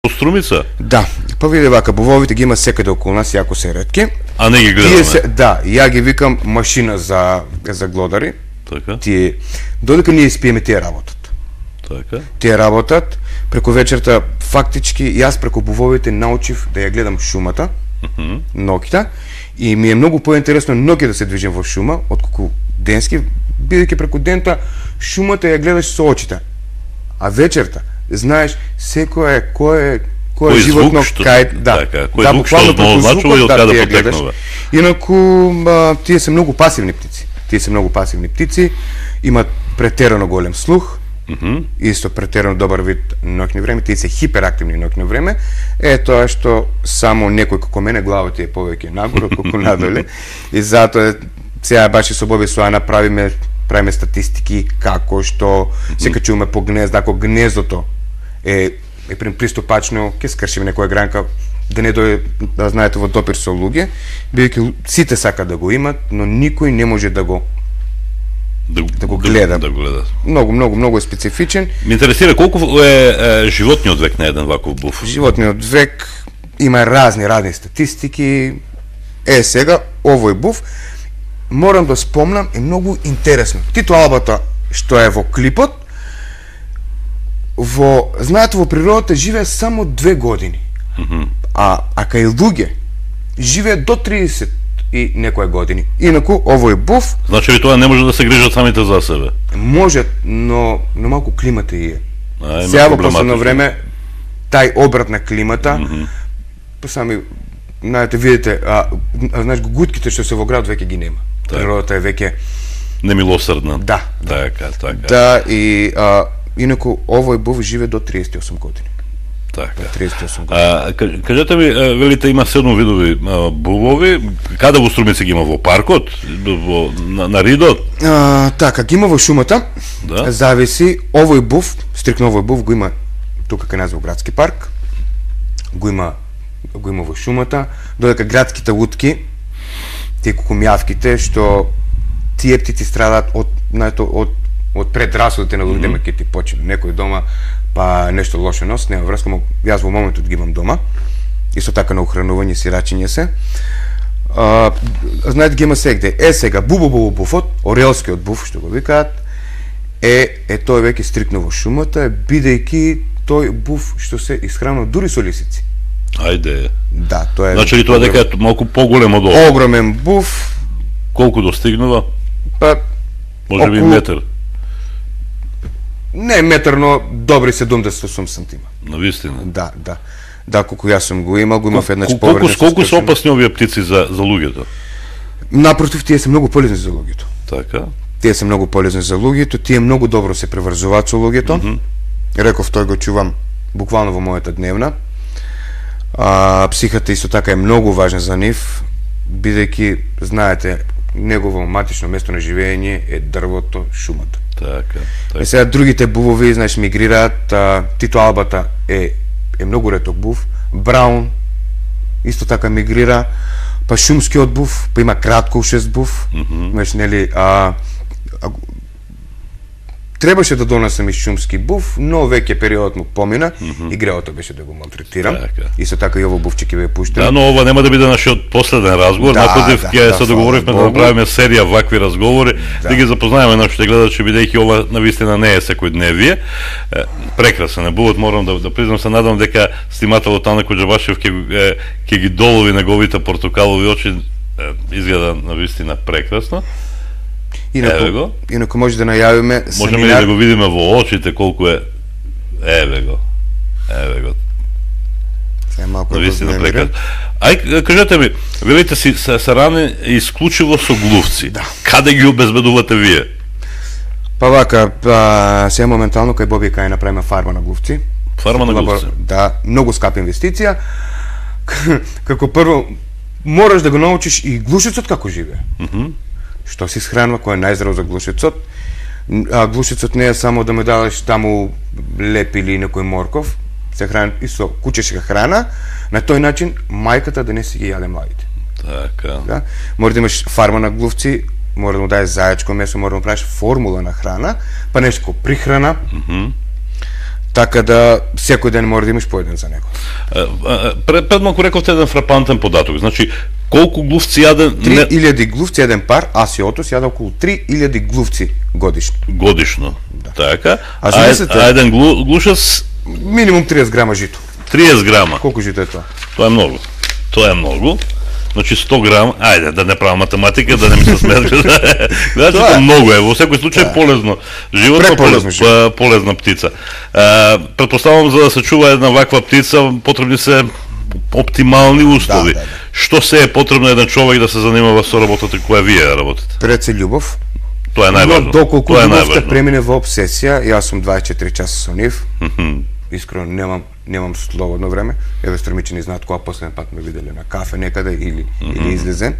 Струмица? Да, па види вака, бувовите ги има секаде околу нас, јако се ретки. А не ги гледаме? Да, ја ги викам машина за глодари. Така. Тие, додека ние спиеме, тие работат. Така. Тие работат, преку вечерта, фактички, јас преку бувовите научив да ја гледам шумата, ноќта, и ми е многу поинтересно ноќе да се движам во шума, отколку денски, бидејќи преку дента шумата ја гледаш со очите. А вечерта знаеш секој кој животно кај кој звук што означува и од каде потекнува. Инаку тие се многу пасивни птици. Имаат претерано голем слух. Исто претерано добар вид ноќно време, тие се хиперактивни ноќно време. Тоа што само некој како мене главата е повеќе нагоре колку надоле. И затоа сега баш со Боби Соана правиме статистики како што се качуваме по гнезда, ако гнездото е приступачно, ќе скршиме некоја гранка, да не дојде, да знаете, во допир со луѓе, бидејќи сите сакаат да го имат, но никој не може да го гледа. Многу е специфичен. Ме интересира колку е животниот век на еден ваков буф? Животниот век има разни статистики. Сега овој буф морам да спомнам, е многу интересно. Тито Албата што е во клипот, знаете, во природата живее само 2 години. А кај луѓе живее до 30 и некои години. Инаку овој буф, значи ли тоа не може да се грижат самите за себе? Може, но малку климата е. Сега во последно време тај обрат на климата, сами знаете, видите, знаеш, гутките што се во град веќе ги нема. Природата е веќе немилосрдна. Да. Така. Да, и инаку овој буф живее до 38 години. Така. 38 години. Кажете ми, велите има 7 видови бувови, каде во Струмица ги има, во паркот, на Ридот? Така, ги има во шумата. Да. Зависи, овој буф, стрикно овој буф го има тука кај нас во градски парк. Го има во шумата, додека градските лутки, тие кукумјавките, што тие птици страдаат од предрасудите на луѓето, ќе ти почне некој дома, па нешто лошо нос, нема врска, јас во моментот ги имам дома, исто така на ухранување, сирачење се. Знаете, ги има сегде. Сега, буфот, орелскиот буф, што го викаат, тој веќе стрикно во шумата, бидејќи тој буф што се исхранува дури со лисици. Ајде. Да, тоа е. Значи ли тоа дека е малку поголем од ова? Огромен буф. Колку достигнува? Па може би метар. Не метар, но добри 70-80 сантима. Навистина. Да. Да, колку јас сум го имал еднаш повреда. Колку се опасни овие птици за луѓето? Напротив, тие се многу полезни за луѓето. Така. Тие се многу полезни за луѓето, тие многу добро се преврзуваат со луѓето. Реков, тој го чувам буквално во мојата дневна. Психата исто така е многу важна за нив, бидејќи, знаете, негово матично место на живење е дрвото, шумата. Така. Сега другите бувови, знаеш, мигрираат. Тито Албата е многу реток був. Браун исто така мигрира. Па шумскиот був, па има краткоушест був. Знаеш, нели, требаше да донесам и шумски буф, но веќе периодот му помина и греото беше да го малтретирам. Исто така и ово буфче ќе ве пуштам. Да, но ова нема да биде нашиот последен разговор. Напротив, ќе се договоривме да направиме серија вакви разговори, да ги запознаеме нашите гледачи, бидејќи ова навистина не е секојдневие. Прекрасен е бувот, морам да признам, се надам дека снимателот Ана Коџабашев ќе ги долови неговите портокалови очи. Изгледа навистина прекрасно. Инаку може да најавиме семинар. Можеме ли да го видиме во очите колку е? Еве го. Навистина прекрасно. Кажете ми, велите си сарани исклучиво со глувци. Каде ги обезбедувате вие? Па вака, сега моментално кај Боби кај направиме фарма на глувци. Фарма на глувци? Да, многу скапа инвестиција. Како прво, мораш да го научиш и глушецот како живее. Што се исхранува, кој е најздрав за глушецот. Глушецот не е само да ме дадеш таму леп или некој морков, се храни и со кучешка храна, на тој начин мајката да не си ги јаде младите. Така. Да? Може да имаш фарма на глувци, може да му даеш зајачко месо, може да му правиш формула на храна, па нешто прихрана. Така да секој ден мора да имаш по еден за него. Пред малку рековте еден фрапантен податок. Значи, колку глувци јаде? 3000 глувци еден пар, аз и Отос јаде околу 3000 глувци годишно. Годишно. Да. Така. А еден глушец минимум 30 грама жито. 30 грама. Колку жито е тоа? Тоа е многу. Тоа е многу. Значи 100 грама, ајде да не правам математика, да не ми се сметка. Значи тоа многу е, во секој случај полезно. Животно полезна птица. Претпоставувам за да се чува една ваква птица потребни се оптимални услови. Да. Што се е потребно еден човек да се занимава со работата која вие работите? Пред се љубов. Тоа е најважно. Доколку љубовта премине во обсесија, јас сум 24 часа со нив. Искрено немам слободно време. Еве стремичени знаат кога последен пат ме виделе на кафе некаде или излезен.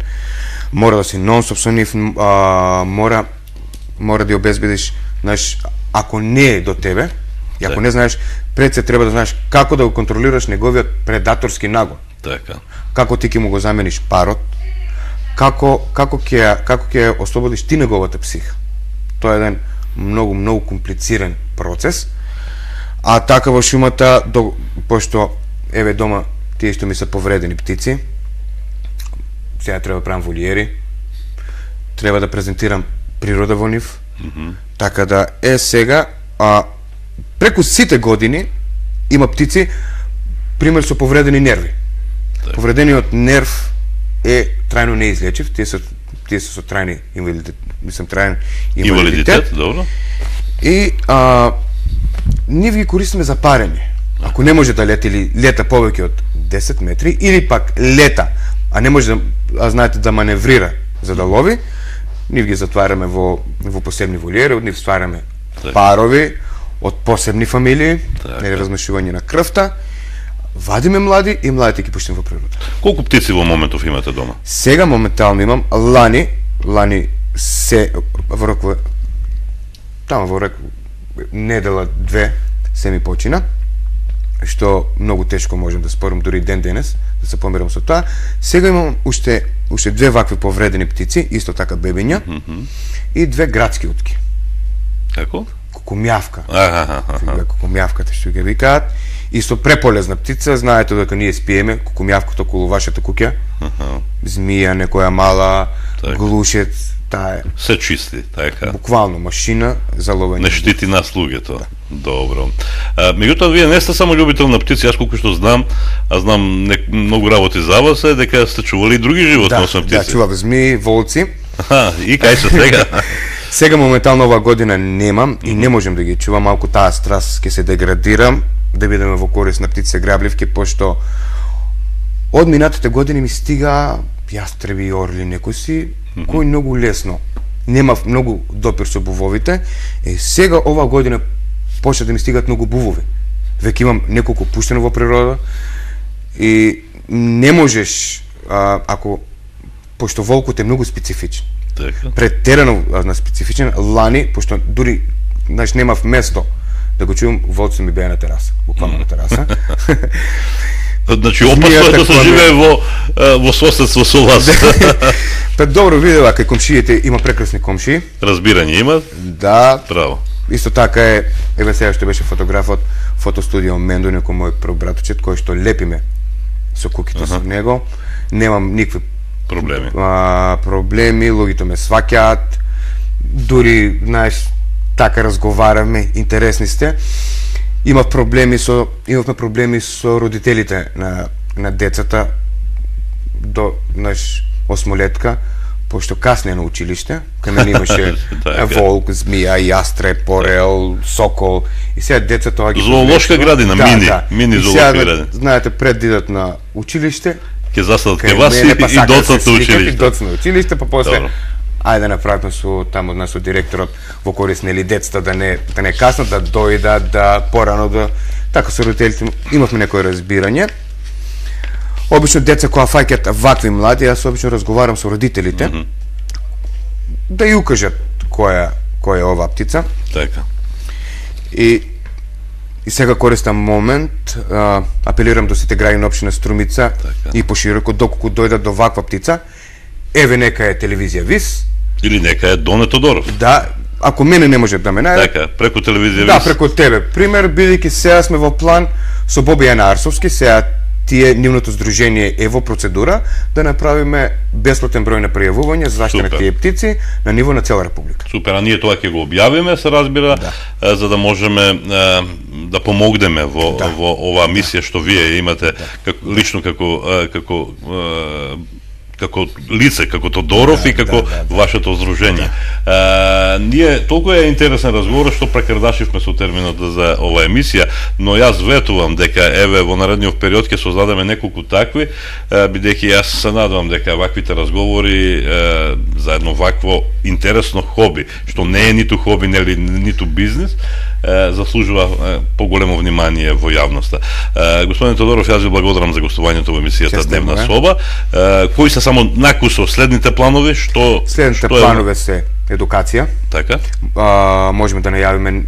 Мора да си нон-стоп со нив, мора да ја обезбедиш, знаеш, ако не е до тебе, и ако не знаеш, пред се треба да знаеш како да го контролираш неговиот предаторски нагон. Така. Како ти ќе му го замениш парот, како ќе ослободиш ти неговата психа. Тоа е еден многу комплициран процес. А така во шумата, пошто еве дома тие што ми се повредени птици, сега треба да правам волиери, треба да презентирам природа во нив, така да сега, преку сите години има птици, пример со повредени нерви. Повредениот нерв е трајно неизлечив, тие се со трајни инвалидитет. Добро. И ние ги користиме за парење. Ако не може да лета или лета повеќе од 10 метри, или пак лета, а не може да, знаете, да маневрира за да лови, ние ги затвараме во посебни волиери, од нив ствараме парови од посебни фамилии, нели размешување на крвта, вадиме млади и младите ги пуштиме во природа. Колку птици во моментов имате дома? Сега моментално имам лани се во рокова тamo во рокова недела две се ми почина, што многу тешко можам да спорам дури ден денес, да се помирам со тоа. Сега имам уште две вакви повредени птици, исто така бебиња, и две градски утки. Како? Кукумјавка. Кукумјавката што ги викаат. Исто преполезна птица, знаете дека ние спиеме кукумјавката околу вашата куќа. Змија, некоја мала, глушец, таа е. Се чисти, така. Буквално машина за ловење. Не штити нас луѓето. Добро. Меѓутоа вие не сте само љубител на птици, јас колку што знам, многу работи за вас е дека сте чували и други животни освен птици. Да, чував змии, волци. И кај се сега? Сега моментално оваа година немам и не можам да ги чувам, малку таа страст ќе се деградирам, да бидеме во корист на птици грабливки, пошто од минатите години ми стига јастреби и орли некоси, кои многу лесно немав многу допир со бувовите, сега оваа година почна да ми стигат многу бувови. Веќе имам неколку пуштено во природа и не можеш, ако, пошто волкот е многу специфичен, претерано специфичен, лани, пошто дури немав место да го чувам, волците ми беа на тераса, буквално на тераса. Значи, опасно е да се живее во соседство со вас. Пред добро видела, кај комшиите има прекрасни комшии. Разбирање има? Да. Право. Исто така е, еве сега што беше фотографот, фотостудио Мендо, некој мој братучет, кој што лепиме со куките со него. Немам никакви проблеми, луѓето ме сваќаат, дури, знаеш, така разговараме, интересни сте. Имавме проблеми со родителите на децата до осмолетка, пошто касне на училиште, кај мене имаше волк, змија, јастреб, орел, сокол, и сега децата ги зоолошка градина, мини зоолошка градина. Знаете, пред да идат на училиште, ќе застанат кај вас и доцнат на училиште. Доцнат на училиште, па после ајде да направиме со таму од нас со директорот во корист нели децата да не каснат, да дојдат, да порано да така со родителите имавме некој разбирање. Обично деца кои фаќаат вакви млади, јас обично разговарам со родителите да ја укажат која е оваа птица. Така. И сега користам момент, апелирам до сите граѓани на општина Струмица и пошироко, доколку дојдат до ваква птица, еве нека е телевизија ВИС. Или нека е Доне Тодоров. Да, ако мене не може да ме најде. Така, преку телевизија. Да, преку тебе. Пример, бидејќи сега сме во план со Бобијана Арсовски, сега тие нивното здружение е во процедура да направиме бесплатен број на пријавување за заштита на тие птици на ниво на цела република. Супер, а ние тоа ќе го објавиме, се разбира, за да можеме да помогнеме во оваа мисија што вие имате лично како лице, како Тодоров и како вашето здружение. Ние толку е интересен разговор што прекрадашивме со терминот за оваа емисија, но јас ветувам дека еве во наредниот период ќе создадеме неколку такви, бидејќи јас се надевам дека ваквите разговори за едно вакво интересно хоби, што не е ниту хоби, ниту бизнис, заслужува поголемо внимание во јавноста. Господин Тодоров, јас ви благодарам за гостувањето во емисијата Дневна соба. Кои се само накусо следните планови? Следните планови се едукација. Така. Можеме да најавиме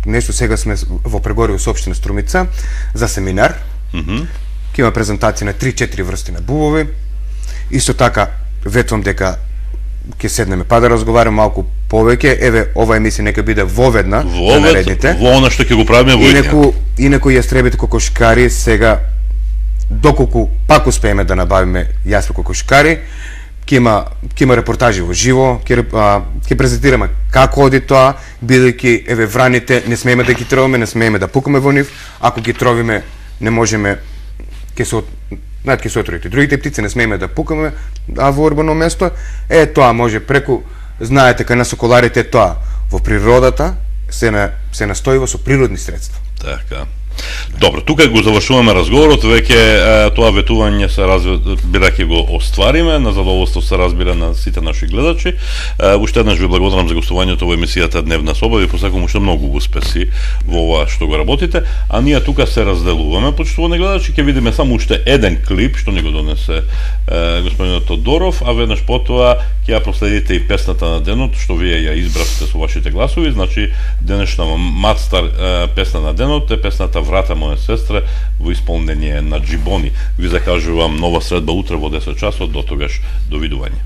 нешто сега сме во преговори со општина Струмица за семинар. Ќе има презентација на 3-4 врсти на бубови. Исто така ветувам дека ќе седнеме па да разговараме малку повеќе. Еве, ова емисија нека биде воведна на наредните. Во она што ќе го правиме во Инаку јастребите кокошкари сега, доколку пак успееме да набавиме јаспи кокошкари, ќе има репортажи во живо, ќе презентираме како оди тоа, бидејќи еве враните не смееме да ги тровиме, не смееме да пукаме во нив, ако ги тровиме не можеме, ќе се отровите. Другите птици не смееме да пукаме, а во урбано место тоа може преку, знаете, кај на соколарите тоа во природата се настојува со природни средства. Така. Добро, тука го завршуваме разговорот, веќе тоа ветување се разбира ќе го оствариме, на задоволство се разбира на сите наши гледачи. Уште еднаш ви благодарам за гостувањето во емисијата Дневна соба, ви посакувам уште многу успеси во ова што го работите, а ние тука се разделуваме, почитувани гледачи, ќе видиме само уште еден клип што ни го донесе господинот Тодоров, а веднаш потоа ќе ја проследите и песната на денот, што вие ја избравте со вашите гласови, значи денешна Мадстар песна на денот е песната Врата моја сестра во исполнение на Джибони. Ви закажувам нова средба утре во 10 часот, до тогаш довидување.